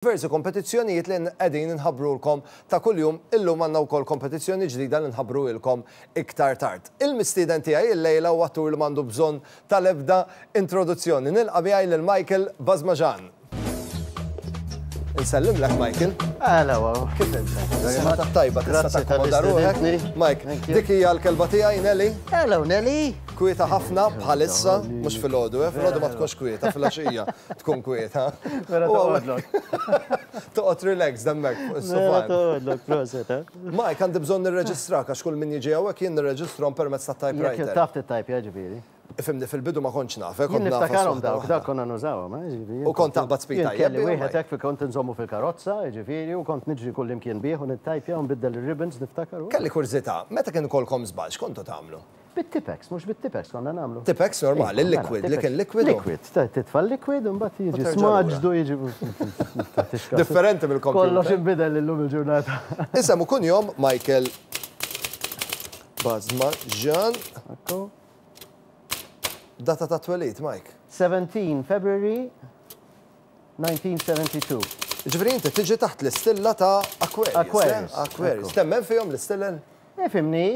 Diversi kompetizzjonijiet li qegħdin inħabbrulkom ta' kuljum, illum għandna wkoll kompetizzjoni ġdida li nħabbruilkom iktar tard. Il-mistieden tiegħi illejla huwa attur li m'għandu bżonn tal-ebda introduzzjoni. Nilqa' miegħi lil Michael Basmajan. Insellimlek Michael. Hello. Kif int? Sena tajba tista' takkomoda ruħek. Mike, dik hija l-kelba tiegħi Nelly. Hello Nelly. Kwieta ħafna bħalissa, mhux filgħodu, eh, filgħodu ma tkunx kwieta, filgħaxija tkun kwieta. Vera toqgħodlok. Toqgħod relax hemmhekk fuq is-sofan. Vera toqgħodlok, proset, eh. Mike, għandi bżonn nirreġistrak għax kull min jiġi hawnhekk jien nirreġistrahom permezz tat-typewriter. Jekk taf tittajpja ġifieri. Ifhimni, fil-bidu ma kontx naf, eh, kont Jien niftakarhom dawk, dawk konna nużawhom, eh, ġifieri. U kont taqbad speed tajjeb. Kelli wieħed hekk kont inżommu fil-karozza, ġifieri, u kont niġri kullimkien bih u nittajpja u nbiddel ir-ribbons niftakar. Kelli kurżità, meta kien ikollkom żball x'kontu tagħmlu? Bit-Tipex, mhux bit-Tipex konna nagħmlu. Tipex normali, Iva, liquid, mela, li kien liquid. Liquid, titfa' liquid u mbagħad jiġi smaġdu jiġi. Differenti mill-kompjuter. Kollox inbidel illum il-ġurnata. Isem u kunjom Michael Bazmaġan. Data ta' twelid, Mike. 17 February 1972. Ġifieri inti tiġi taħt l-istilla ta' Aquarius. Aquarius. Aquarius. Temmen fihom l-istilel? Ifhimni,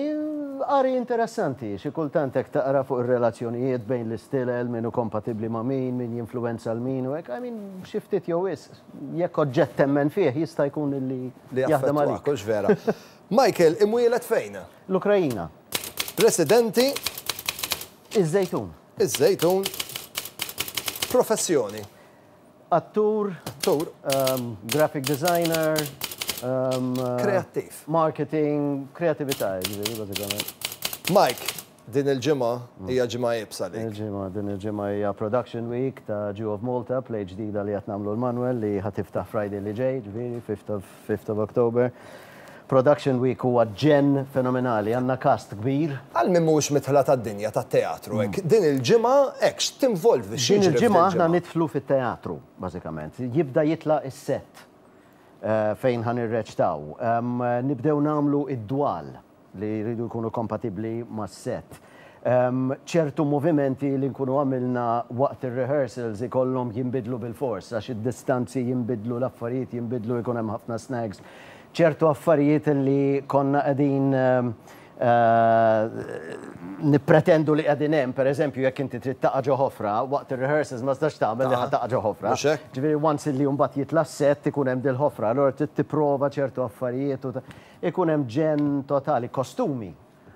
qari interessanti, xi kultant hekk taqra fuq ir-relazzjonijiet bejn l-istilel, min hu kompatibbli ma' min, min jinfluwenza 'l min u hekk, I mean, xi ftit jew wisq, jekk oġġett temmen fih jista' jkun illi Li jaħdem jaffettwak, għalik. hux vera. Michael, imwieled fejn? L-Ukraina. Residenti? Iż-Żejtun. Iż-Żejtun. Professjoni? Attur. Attur. Graphic designer. Kreattiv. Marketing, kreatività, jiġifieri, bażikament. Mike, din il-ġimgħa hija ġimgħa iebsa għalik. Il-ġimgħa, din il-ġimgħa hija Production Week ta' Jew of Malta, play ġdida li qed nagħmlu l-Manwel li ħa tiftaħ Friday li ġej, ġifieri, fifth of, fifth of October. Production Week huwa ġenn fenomenali, għandna cast kbir. Għal min mhuwiex midħla tad-dinja tat-teatru hekk, din il-ġimgħa hekk x'tinvolvi, x'jiġri Din f'din il-ġimgħa aħna il-ġimgħa? nidħlu fit-teatru, bażikament. Jibda jitla' is-sett fejn ħa nirreċtaw. Nibdew nagħmlu d-dwal li jridu jkunu kompatibbli mas-sett. Ċertu movimenti li nkunu għamilna waqt ir-rehearsals ikollhom jinbidlu bilfors għax id-distanzi jinbidlu, l-affarijiet jinbidlu, ikun hemm ħafna snags. Ċertu affarijiet li konna qegħdin nippretendu li qegħdin hemm, pereżempju jekk inti trid taqa' ġo ħofra, waqt ir-rehearsals ma tistax tagħmel li ħa taqa' ġo ħofra. Ġifieri once li mbagħad jitla' s-sett ikun hemm dil-ħofra, allura trid tipprova ċertu affarijiet u ikun hemm ġenn totali. Kostumi.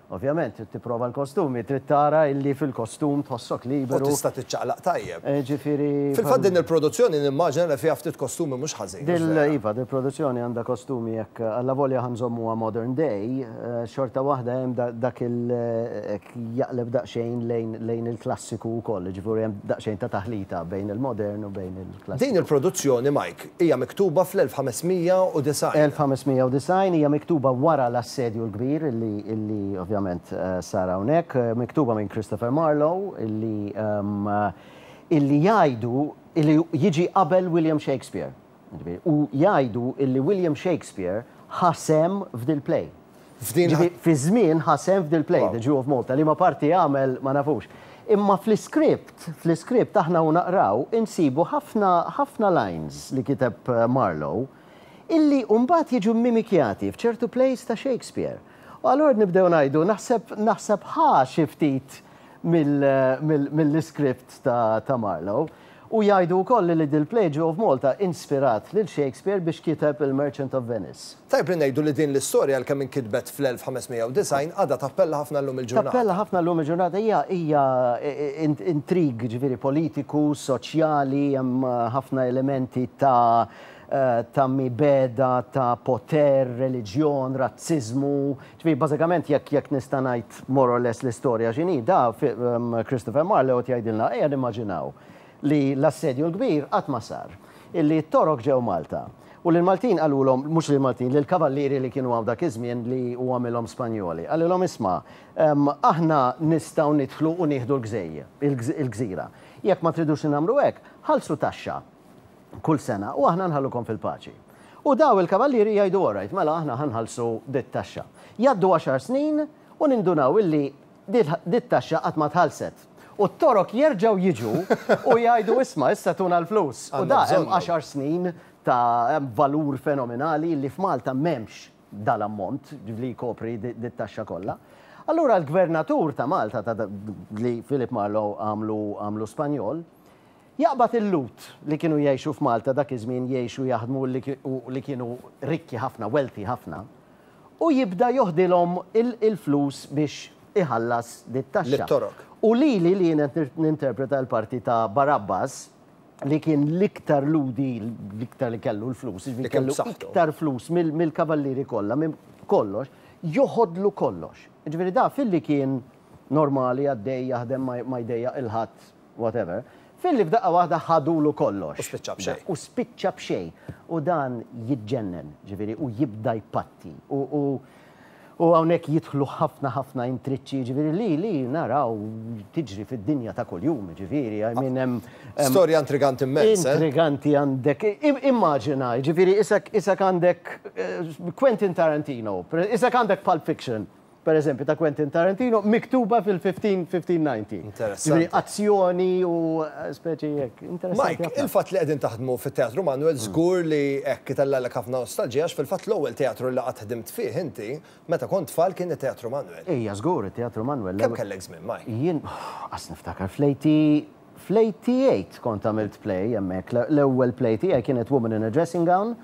Ovvjament, trid tipprova l-kostumi, trid tara illi fil-kostum tħossok liberu. U tista' tiċċaqlaq tajjeb. Ġifieri. Fil-fatt din il-produzzjoni nimmaġina li fiha ftit kostumi mhux ħażin. Dil, iva, dil-produzzjoni għandha kostumi jekk allavolja ħa nżommuha modern day, xorta waħda hemm dak il hekk jaqleb daqsxejn lejn lejn il-klassiku wkoll, jiġifieri hemm daqsxejn ta' taħlita bejn il-modern u bejn il-klassiku. Din il-produzzjoni, Mike, hija miktuba fl-1590. 1590 hija miktuba wara l-Assedju l-Kbir illi illi ovvjament sar hawnhekk, miktuba minn Christopher Marlowe illi illi jgħidu illi jiġi qabel William Shakespeare. Jiġifieri, u jgħidu illi William Shakespeare ħa sehem f'dil-play. F'din Ġifieri, fi żmien ħa sehem f'dil-play, The Jew of Malta, liema parti għamel ma nafux. Imma fl-iskript, fl-iskript aħna u naqraw insibu ħafna ħafna lines li kiteb Marlowe illi mbagħad jiġu mmimikjati f'ċertu plays ta' Shakespeare. U allura nibdew ngħidu naħseb naħseb ħa xi ftit mill mill-iskript ta' ta' Marlowe. U jgħidu wkoll li dil-play Jew of Malta inspirat lil Shakespeare biex kiteb il-Merchant of Venice. Tajjeb li ngħidu li din l-istorja għalkemm inkitbet fl-1590 għadha tappella ħafna llum il-ġurnata. Tappella ħafna llum il-ġurnata. Hija hija intrig ġifieri politiku, soċjali, hemm ħafna elementi ta' ta' mibegħda, ta' poter, reliġjon, razziżmu. Ġifieri bażikament jekk jekk nista' ngħid more or less l-istorja x'inhi, da Christopher Marlowe qed jgħidilna ejja nimmaġinaw li l-Assedju l-Kbir qatt ma sar, illi t-Torok ġew Malta u li l-Maltin qalulhom, mhux lill-Maltin, lill-kavallieri li kienu hawn dak iż-żmien li hu għamilhom Spanjoli, qalilhom isma' aħna nistgħu nidħlu u nieħdu l-gżejjer, il-gżira. Jekk ma tridux li nagħmlu hekk, ħallsu taxxa. kull sena u aħna nħallukom fil-paċi. U daw il-kavallieri jgħidu all right, mela aħna ħa nħallsu dit-taxxa. Jgħaddu għaxar snin u nindunaw illi dit-taxxa qatt ma tħallset. U t-Torok jerġgħu jiġu u jgħidu isma' issa tuna l-flus. U da hemm għaxar snin ta' hemm valur fenomenali li f'Malta m'hemmx dal-ammont li jkopri dit-taxxa kollha. Allura l-gvernatur ta' Malta ta' li Philip Marlowe għamlu għamlu Spanjol, jaqbad il-Lhud li kienu jgħixu f'Malta dak iż-żmien jgħixu jaħdmu u li kienu rikki ħafna, wealthy ħafna, u jibda joħdilhom il-flus biex iħallas dit-taxxa. Lit-Torok. U lili li jien qed ninterpreta l-parti ta' Barabbas, li kien l-iktar Lhudi, l-iktar li kellu l-flus, jiġifieri kellu iktar flus mill-kavallieri kollha, minn kollox, joħodlu kollox. Jiġifieri da filli kien normali għaddej jaħdem ma jdejjaq 'il ħadd, whatever, filli f'daqqa waħda ħadulu kollox. U spiċċa b'xejn. U spiċċa b'xejn. U dan jiġġennen, ġifieri, u jibda jpatti. U U hawnhekk jidħlu ħafna ħafna intriċċi, jiġifieri li li naraw tiġri fid-dinja ta' kuljum, jiġifieri, I mean hemm. Storja intriganti immens, eh? Intriganti għandek, immaġina, jiġifieri isek isek għandek Quentin Tarantino, isek għandek Pulp Fiction, per eżempju, ta' Quentin Tarantino, miktuba fil-1590. Interessanti. Jiġifieri azzjoni u speċi hekk. Interessanti Mike, il-fatt li qegħdin taħdmu fit-Teatru Manuel żgur li hekk itellgħalek ħafna nostalġija għax fil-fatt l-ewwel teatru li qatt ħdimt fih inti meta kont tfal kien it-Teatru Manuel. Ejja żgur, it-Teatru Manuel. Kemm kellek żmien, Mike? Jien, qas niftakar, fl-eighty, fl-88 kont għamilt play hemmhekk. L-ewwel play tiegħi kienet Woman in a Dressing Gown.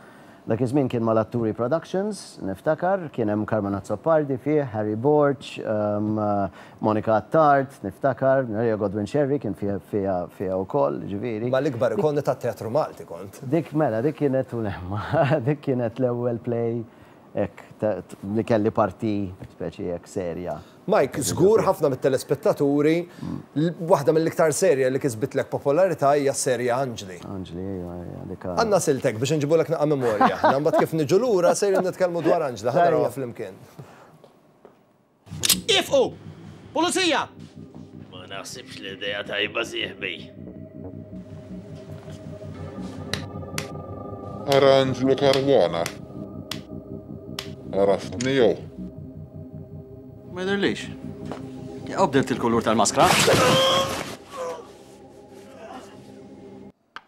Dak iż-żmien kien mal-Atturi Productions, niftakar, kien hemm Carmen Azzopardi fih, Harry Borg, Monica Attard, niftakar, Maria Godwin Scerri kien fiha fiha wkoll, ġifieri. Mal-ikbar ikoni tat-teatru Malti kont. Dik mela, dik kienet u dik kienet l-ewwel play hekk li kelli parti speċi hekk serja. Mike, żgur ħafna mit-telespettaturi, waħda mill-iktar serje li kisbitlek popolarità hija s-serje Anġli. Anġli, ejwa, ejwa, dik. Għandna siltek biex inġibulek naqa' memorja aħna, mbagħad kif niġu lura sejrin nitkellmu dwar Anġli, ħa narawha flimkien. Iefqu! Pulizija! Ma naħsibx li idea tajba sieħbi. Ara Anġlu Caruana. Għaraftni jew? Ma jidhirlix. Jew bdilt il-kulur tal-maskra.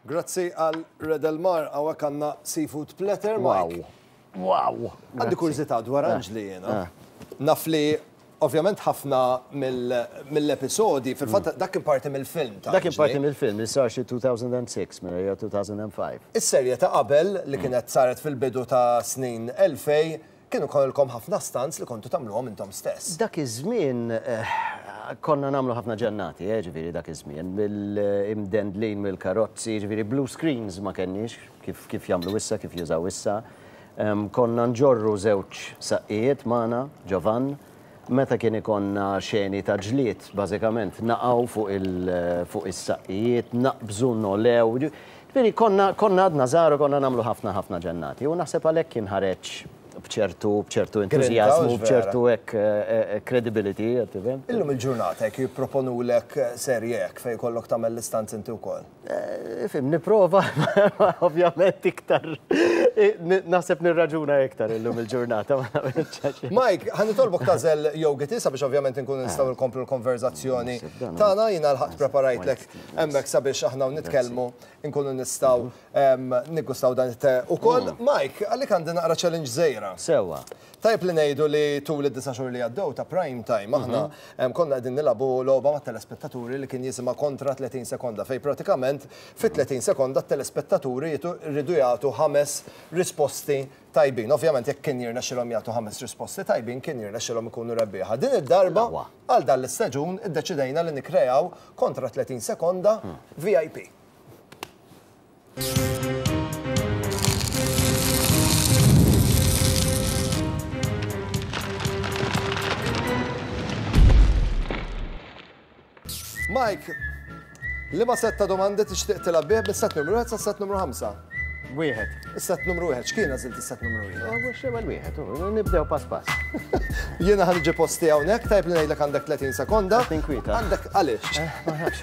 Grazzi għal Redelmar, hawnhekk għandna seafood platter, Mike. Wow. Wow. Għandi kurżità dwar eh. Anġli jiena. Eh. Naf li ovvjament ħafna mill-episodi, fil-fatt mm. dak kien parti mill-film ta' Dak kien parti mill-film li sar xi 2006 minn jew 2005. Is-serje ta' qabel li mm. kienet saret fil-bidu ta' snin 2000 Kienu jkollkom ħafna stunts li kontu tagħmluhom intom stess. Dak iż-żmien konna nagħmlu ħafna ġennati, eh, ġifieri dak iż-żmien, mill-imdendlin mill-karozzi, ġifieri blue screens ma kenniex kif kif jagħmlu issa, kif jużaw issa. Konna nġorru żewġ saqqijiet magħna ġo vann. Meta kien ikollna xeni ta' ġlied, bażikament naqgħu fuq il fuq is-saqqijiet, naqbżu, nogħlew. Ġifieri konna konna għadna żgħar u konna nagħmlu ħafna ħafna ġennati u naħseb għalhekk kien ħareġ b'ċertu b'ċertu entużjażmu, b'ċertu hekk credibility, qed tifhem? Illum il-ġurnata jekk jipproponulek serje hekk fejn ikollok tagħmel l-istunts inti wkoll? Ifhem, nipprova, ovvjament iktar, naħseb nirraġuna iktar illum il-ġurnata. Mike, ħa nitolbok tagħżel yogi sabiex ovvjament inkunu nistgħu nkomplu l-konverzazzjoni tagħna. Jiena lħaqt preparajtlek hemmhekk sabiex aħna u nitkellmu nkunu nistgħu niggustaw dan it-te ukoll. Mike, għalik għandi naqra challenge żgħira. Sewwa. Tajjeb li ngħidu li tul id-disa' xhur li għaddew ta' Prime Time aħna konna qegħdin nilagħbu logħba mat-telespettaturi li kien jisimha Kontra 30 Sekonda fejn pratikament fi 30 sekonda t-telespettaturi jridu jagħtu ħames risposti tajbin. Ovvjament jekk kien jirnexxilhom jagħtu ħames risposti tajbin kien jirnexxilhom ikunu rebbieħa. Din id-darba għal dan l-istaġun iddeċidejna li nikkreaw Kontra 30 Sekonda VIP. Mike, liema sett ta' domandi tixtieq tilgħab bih mis-sett numru 1 sa' sett numru 5? Wieħed. Is-sett numru 1, x'kien għażilt is-sett numru 1? Oh, mhux ewwel wieħed, nibdew pass pass. Jiena ħa niġi posti hawnhekk, tajjeb li ngħidlek għandek 30 sekonda. Qed ninkwieta. Għandek għaliex? Eh, ma nafx.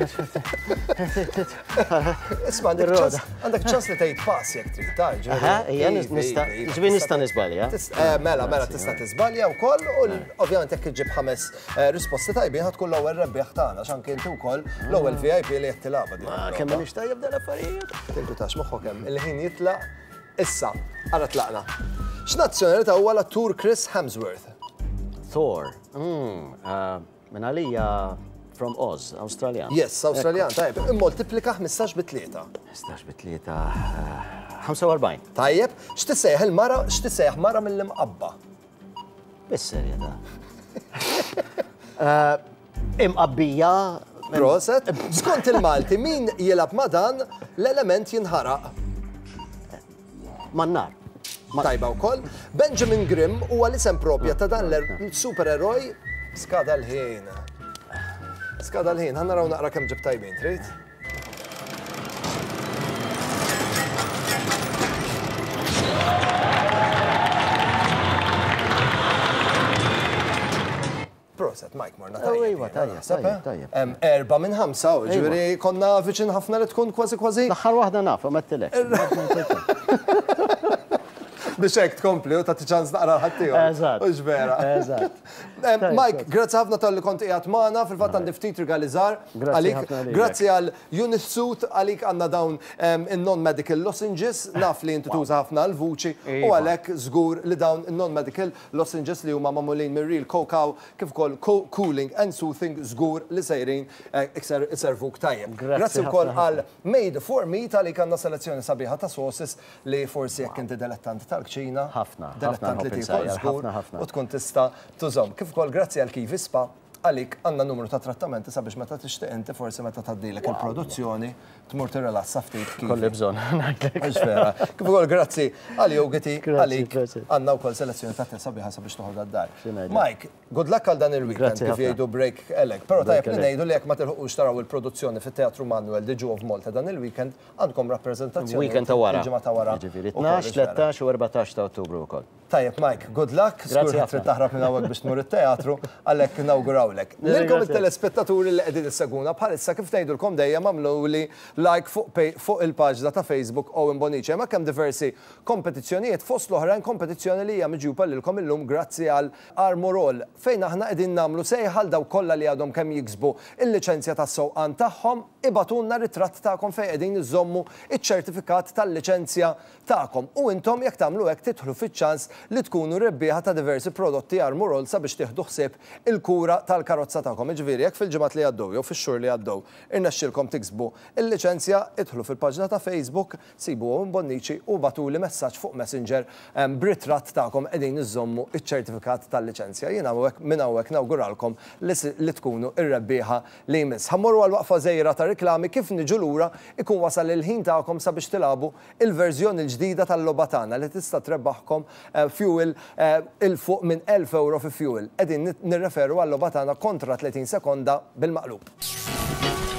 Isma' għandek ċans, għandek ċans li tgħid pass jekk trid, ta' ġifieri. Ejja, nista' ġifieri nista' niżbalja. Eh, mela, mela tista' tiżbalja wkoll u ovvjament jekk iġġib ħames eh, risposti tajbin ħa tkun l-ewwel rebbieħ tagħna għax anke inti wkoll l-ewwel VIP li qed tilgħabha din. Ma kemm m'iniex tajjeb dal-affarijiet. Tinkwitax moħħok hemm, il-ħin jitlaq. Issa, ara tlaqna. X'nazzjonalità huwa l-attur Chris Hemsworth? Thor. Mm, uh, minn għalija from Oz, Awstraljan. Yes, Awstraljan, tajjeb. Immoltiplika 15 bi tlieta. 15 bi tlieta, 45. Eh, tajjeb, x'tissejjaħ il-mara, x'tissejjaħ mara mill-imqabba? Bis-serjetà. Eh, imqabbija. Proset. Skont il-Malti, min jilgħab ma' dan l-element jinħaraq? Man-nar. Tajba wkoll. Benjamin Grimm huwa l-isem propja ta' dan l-supereroj skada l-ħin. Skada l-ħin, ħa naraw naqra kemm ġib tajbin, trid? Proset, Mike, morna tajjeb. Iva, tajjeb, tajjeb, tajjeb. Erba minn ħamsa, ġifieri konna viċin ħafna li tkun kważi kważi. L-aħħar waħda naf, ma tilek. Biex hekk tkompli u tagħti ċans naqra ħaddieħor. Eżatt. Hux vera. Eżatt. Mike, grazzi ħafna talli kont qiegħed magħna, fil-fatt għandi ftit rigali żgħar għalik. Grazzi għal Unisuit għalik għandna dawn in-non-medical lozenges, naf li inti tuża ħafna l-vuċi u għalhekk żgur li dawn in-non-medical lozenges li huma magħmulin mir-real cacao kif ukoll cooling and soothing żgur li sejrin iservuk tajjeb. Grazzi wkoll għal Made for Meat għalik għandna selezzjoni sabiħa ta' sauces li forsi jekk inti delettant tal-kċina, Ħafna, ħafna delettant li nħobb tiekol insajjar, żgur ħafna, ħafna. u tkun tista' tużhom. Kif ukoll grazzi għal Kiwi Spa, għalik għandna numru ta' trattamenti sabiex meta tixtieq inti forsi meta tgħaddilek il-produzzjoni tmur tirrilassa ftit Kiwi. Kolli bżonn, ngħidlek. Mhux vera. Kif ukoll grazzi għal Yogiti, Grazzi, għalik grazzi. għandna wkoll selezzjoni ta' te sabiħa sabiex toħodha d-dar. Xi ngħidlek? Mike, good luck għal dan il-weekend Grazzi kif ħafna. jgħidu break a leg. Però Break tajjeb li a leg. ngħidu li jekk ma tilħuqux taraw il-produzzjoni fit-Teatru Manuel di Jew of Malta dan il-weekend, Għandkom rappreżentazzjoni. Weekend ta' wara. Il-ġimgħa ta' wara. Jiġifieri 12, 13 u 14 ta' Ottubru wkoll. Tajjeb Mike, good luck. Grazzi Żgur trid taħrab minn hawnhekk biex tmur it-teatru, għalhekk nawgurawlek. Lilkom it-telespettaturi li qegħdin issegwuna bħalissa kif ngħidulkom dejjem agħmluli like fuq il-paġna ta' Facebook Owen Bonnici. Hemmhekk hemm diversi kompetizzjonijiet fost l-oħrajn kompetizzjoni li hija miġjuba lilkom illum grazzi għal Armor All fejn aħna qegħdin nagħmlu sejħa għal dawk kollha li għadhom kemm jiksbu l-liċenzja tas-sewqan tagħhom. Ibagħtulna ritratt tagħkom fejn qegħdin iżżommu ċ-ċertifikat tal-liċenzja tagħkom u intom jekk tagħmlu hekk tidħlu fiċ-ċans li tkunu rebbieħa ta' diversi prodotti Armorol sabiex tieħdu ħsieb il-kura tal-karozza tagħkom. Jiġifieri jekk fil-ġimgħat li għaddew jew fix-xhur li għaddew irnexxielkom tiksbu l-liċenzja, idħlu fil-paġna ta' Facebook, sibu Owen Bonnici u ibagħtuli messaġġ fuq Messenger b'ritratt tagħkom qegħdin iżżommu ċ-ċertifikat tal-liċenzja. Jien hawnhekk minn hawnhekk nawguralkom li tkunu r-rebbieħa li jmiss. Ħa mmorru għal waqfa żgħira ta' riklami, kif niġu lura ikun wasal il-ħin tagħkom sabiex tilagħbu il-verżjoni l-ġdida tal-logħba tagħna li tista' trebbaħkom fuel 'il fuq minn 1,000 ewro fi fuel. Qegħdin nirreferu għal-logħba tagħna kontra 30 sekonda bil-maqlub.